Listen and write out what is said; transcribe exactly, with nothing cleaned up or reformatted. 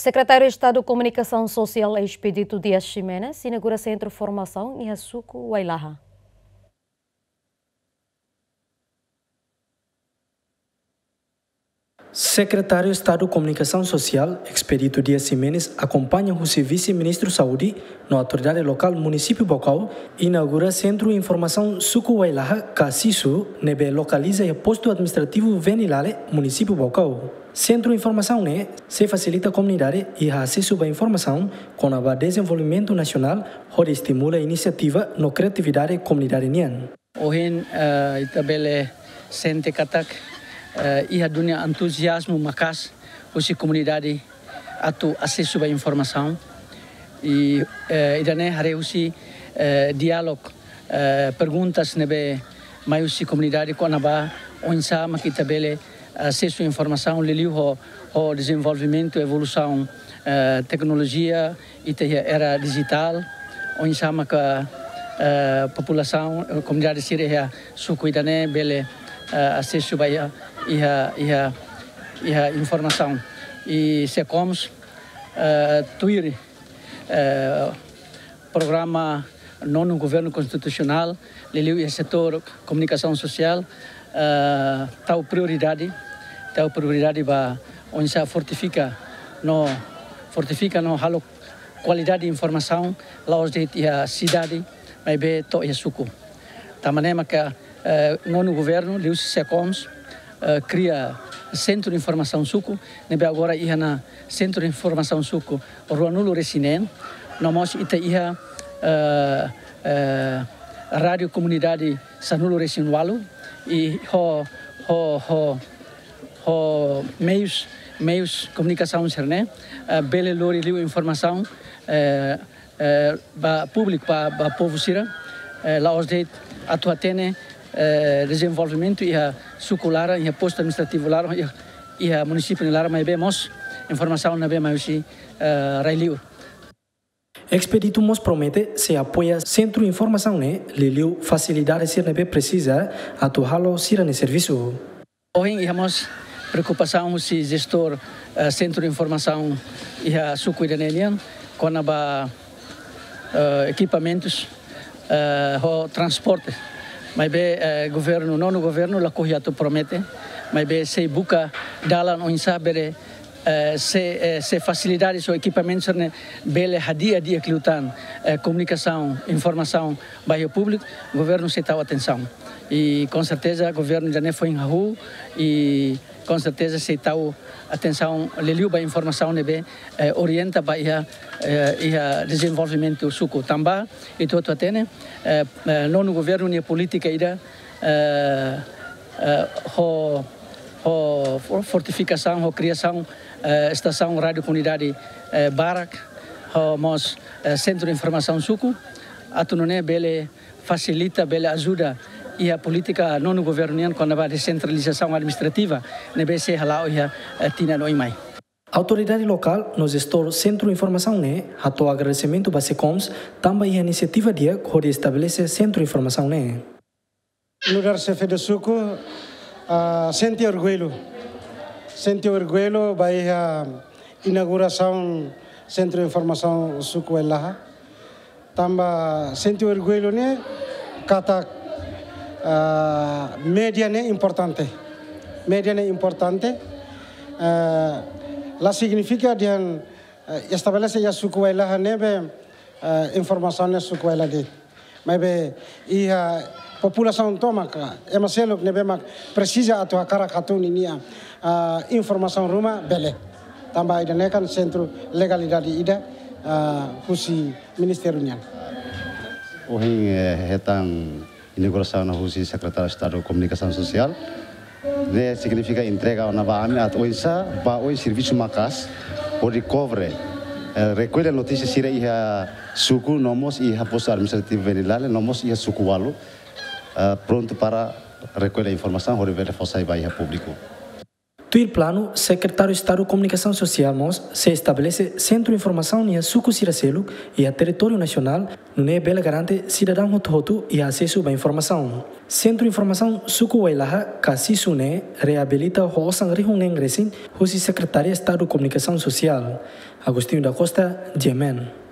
Sekretáriu Estadu Komunikasaun Sosiál Expedito Dias Ximenes inaugura sentru formasaun iha suku Wailaha. Sekretáriu Estadu Komunikasaun Sosiál, Expedito Dias Ximenes, akompaña husi Vise-Ministru Saúde no autoridade lokál Munisípiu Baucau, inaugura Sentru Informasaun Suku Wailaha, ka SISU, ne'ebé lokaliza iha Postu Administrativu Venilale, Munisípiu Baucau. Sentru informasaun ne'e sei fasilita komunidade iha asesu ba informasaun kona-ba dezenvolvimentu nasionál, hodi estimula inisiativa no kriatividade komunidade nian. Ohin, eh, ita bele sente katak, eh, iha duni entuziazmu maka'as husi komunidade atu asesu ba informasaun. I, eh, ida-ne'e haree husi, eh, diálogu, eh, perguntas ne'ebé mai husi komunidade kona-ba oinsá mak ita bele asesu informasaun liuliu ho, ho dezenvolvimentu, evolusaun, eh, teknolojia, ita iha era dijitál, oinsá maka, eh, populasaun, eh, komunidade sira iha suku ida-ne'e bele, eh, asesu ba iha, iha, iha, iha informasaun. I SECOMS, eh, tuir, eh, programa Nonu Governu Konstitusionál, liuliu iha setór komunikasaun sosiál, eh, tau prioridade, tau prioridade ba oinsá fortifika no, fortifika no halo kualidade informasaun, la'ós de'it iha sidade, maibé to'o iha suku. Tanba ne'e maka, eh, Nonu Governu, liuhusi SECOMS, eh, kria Sentru Informasaun Suku, ne'ebé agora iha ona Sentru Informasaun Suku ruanulu-resin-neen, no mós ita iha, eh, eh, rádiu komunidade sanulu-resin-ualu, i ho, ho, ho, ho meius, meius komunikasaun sira-ne'e, eh, bele lori liu informasaun, eh, eh, ba públiku, ba, ba povu sira, eh, la'ós de'it atu hatene, eh, dezenvolvimentu iha suku laran, iha postu administrativu laran, iha, iha munisípiu nia laran, maibé mós informasaun ne'ebé mai husi, eh, rai-li'ur. Expedito mós promete sei apoia sentru informasaun ne'e, liuliu fasilidade sira ne'ebé presiza atu halo sira-nia servisu. Ohin iha mós preokupasaun husi jestór, eh, Sentru Informasaun iha suku ida-ne'e nian, kona-ba, eh, ekipamentus, eh, ho transporte. Maibé, eh, governu, Nonu Governu lakohi atu promete, maibé sei buka dalan oinsá bele, eh, se, eh, se fasilidade, se ekipamentu sira-ne'e bele hadi'a di'ak liután, eh, komunikasaun, informasaun ba iha públiku, governu sei tau atensaun. I com certeza governu ida-ne'e foin hahú, i com certeza sei tau atensaun liuliu ba informasaun ne'ebé, eh, orienta ba iha, eh, iha dezenvolvimentu suku. Tanba ita hotu hatene, eh, eh, Nonu Governu nia polítika ida, eh, eh, ho, ho for-, fortifikasaun, ho kriasaun, eh, estasaun rádiu komunidade, eh, barak, ho mós, eh, Sentru Informasaun Suku, atu nune'e bele fasilita, bele ajuda iha polítika Nonu Governu nian kona-ba desentralizasaun administrativa ne'ebé sei hala'o iha, eh, tinan oin mai. Autoridade lokál no jestór Sentru Informasaun ne'e hato'o agradesimentu ba SECOMS tanba iha inisiativa di'ak hodi estabelese Sentru Informasaun ne'e. Nu'udar Xefe de Suku, ah, sente orgullu. Sente orgullu ba iha inaugurasaun Sentru Informasaun Suku Wailaha. Tanba sente orgullu ne'e katak, ah, média ne'e importante. Média ne'e importante. Ah, la signifika dehan, ah, estabelese iha suku Wailaha ne'ebé, ah, informasaun ne'e suku Wailaha de'it. Maibé iha populasaun tomak, ema seluk ne'ebé mak presiza atu hakarak hatún ninia, ah, informasaun ruma bele. Tanba ida-ne'e kan sentru legalidade ida, ah, husi ministériu nian. Ohin, eh, hetan inaugurasaun husi Sekretáriu Estadu Komunikasaun Sosiál. Ne'e signifika entrega ona ba ami atu oinsá ba oin servisu maka'as hodi kobre, eh, rekolla notísia sira iha suku, no mós iha postu administrativu Venilale, no mós iha suku ualu, eh, prontu para rekolla informasaun hodi bele fó sai ba iha públiku. Tuir planu, Sekretáriu Estadu Komunikasaun Sosiál mós sei estabelese sentru informasaun iha suku sira seluk iha territóriu nasionál, nune'e bele garante sidadaun hotu-hotu iha asesu ba informasaun. Sentru Informasaun Suku Wailaha ka SISU ne'e reabilita ho osan rihun neen resin husi Sekretaria Estadu Komunikasaun Sosiál. Agostinho da Costa, G M N.